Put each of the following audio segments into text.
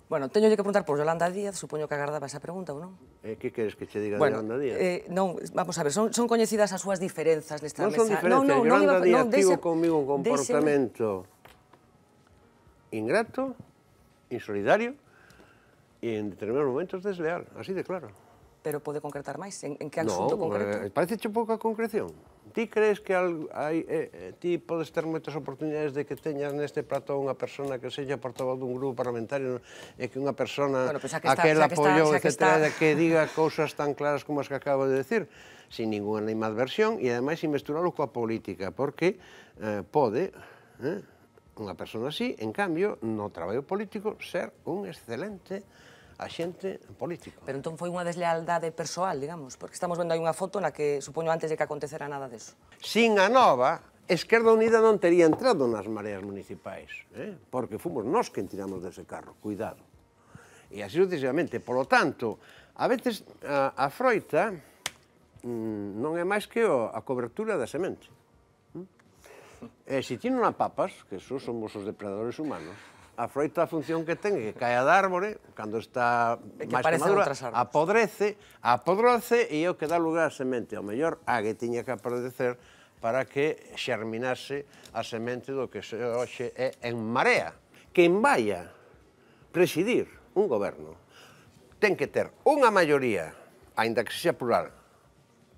Bueno, teño que preguntar por Yolanda Díaz, supoño que agardaba esa pregunta, ou non? Que queres que che diga de Yolanda Díaz? Non, vamos a ver, son coñecidas as súas diferenzas nesta Non mesa. son diferencias, Yolanda Díaz tivo comigo un comportamento ingrato, insolidario e en determinados momentos desleal, así de claro. Pero pode concretar máis? En que asunto concreto? Parece pouca concreción. Ti crees que ti podes ter moitas oportunidades de que teñas neste plató unha persona que sexa portavoz dun grupo parlamentario e que unha persona a que el apoiou, etcétera, que diga cousas tan claras como as que acabo de decir, sin ninguna animadversión e, ademais, sin mesturalo coa política, porque pode unha persona así, en cambio, no traballo político, ser un excelente axente político. Pero entón foi unha deslealdade persoal, digamos, porque estamos vendo aí unha foto na que, supoño, antes de que acontecera nada deso. Sin a Nova, Esquerda Unida non tería entrado nas mareas municipais, porque fomos nós quen tiramos dese carro, cuidado. E así sucesivamente. Por lo tanto, a veces a froita non é máis que a cobertura da semente. E se ti non a papas, que esos somos os depredadores humanos, a froita a función que ten é que cae da árbore, cando está máis que madura, apodrece e é o que dá lugar á semente. Ao mellor, a que tiña que apodrecer para que xerminase a semente do que hoxe é En Marea. Quen vaya presidir un goberno ten que ter unha maioría, aínda que sexa plural,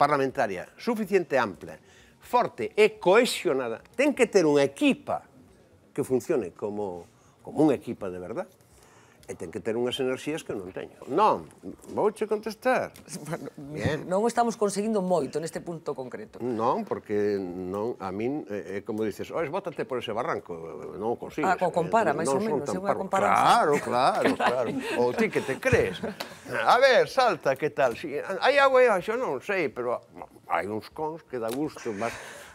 parlamentaria, suficiente ampla, forte e cohesionada, ten que ter unha equipa que funcione como unha equipa de verdad, e ten que ter unhas enerxías que non teño. Non, vouche contestar. Non estamos conseguindo moito neste punto concreto. Non, porque a min, é como dices, bótate por ese barranco, non o consigues. Compara, máis ou menos, é unha comparanza. Claro. Ou ti que te crees. A ver, salta, que tal? Hai agua aí, xo non sei, pero hai uns cons que dá gusto,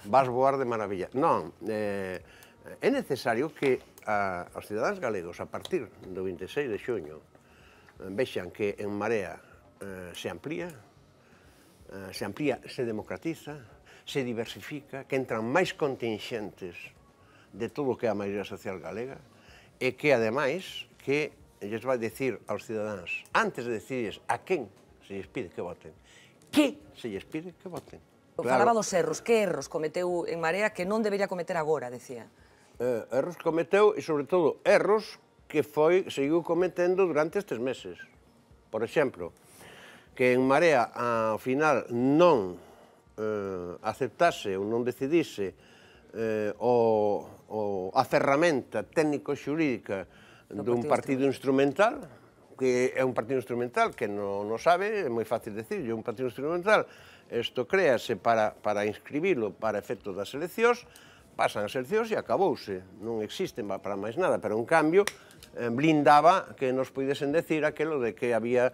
vas voar de maravilla. Non, é necesario que os cidadáns galegos, a partir do 26 de xuño, vexan que En Marea se amplía, se democratiza, se diversifica, que entran máis contingentes de todo o que é a maioría social galega, e que, ademais, que lles vai dicir aos cidadáns, antes de decidirles a quen se lles pide que voten, que se lles pide que voten. Falaba dos erros. Que erros cometeu En Marea que non debería cometer agora, decía? Erros cometeu e, sobre todo, erros que seguiu cometendo durante estes meses. Por exemplo, que En Marea, ao final, non aceptase ou non decidise a ferramenta técnico-xurídica dun partido instrumental, que é un partido instrumental que non o sabe, é moi fácil decirlo, un partido instrumental, isto créase para inscribilo para efectos das eleccións, pasan as eleccións e acabouse, non existen para máis nada, pero en cambio blindaba que nos puidesen decir aquelo de que había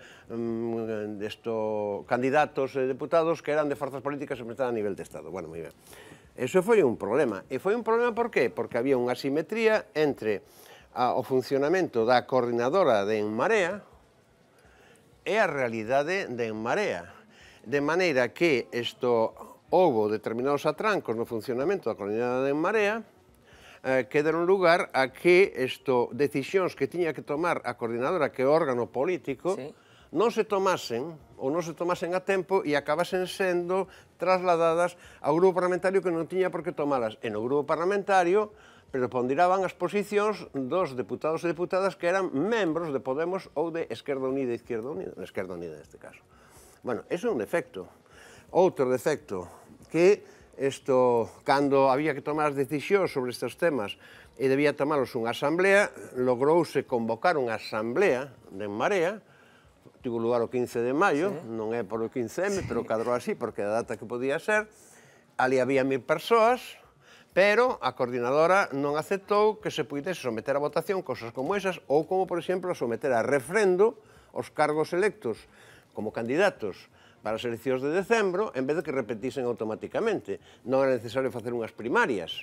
candidatos e deputados que eran de forzas políticas representadas a nivel de Estado. Bueno, moi ben. Eso foi un problema. E foi un problema por qué? Porque había unha asimetría entre o funcionamento da coordinadora de En Marea e a realidade de En Marea. De maneira que houbo determinados atrancos no funcionamento da coordinadora de En Marea que deron lugar a que decisións que tiña que tomar a coordinadora, que é o órgano político, non se tomasen ou non se tomasen a tempo e acabasen sendo trasladadas ao grupo parlamentario que non tiña por que tomalas. E no grupo parlamentario preponderaban as posicións dos deputados e deputadas que eran membros de Podemos ou de Esquerda Unida, Esquerda Unida neste caso. Bueno, iso é un defecto. Outro defecto, que cando había que tomar as decisións sobre estes temas e debía tomalos unha asamblea, logrouse convocar unha asamblea de En Marea, tivo lugar o 15 de maio, non é por o 15M, pero cadrou así, porque a data que podía ser, ali había 1000 persoas, pero a coordinadora non aceptou que se puidese someter a votación cosas como esas, ou como, por exemplo, someter a refrendo os cargos electos como candidatos para as eleccións de decembro, en vez de que repetisen automáticamente. Non era necesario facer unhas primarias.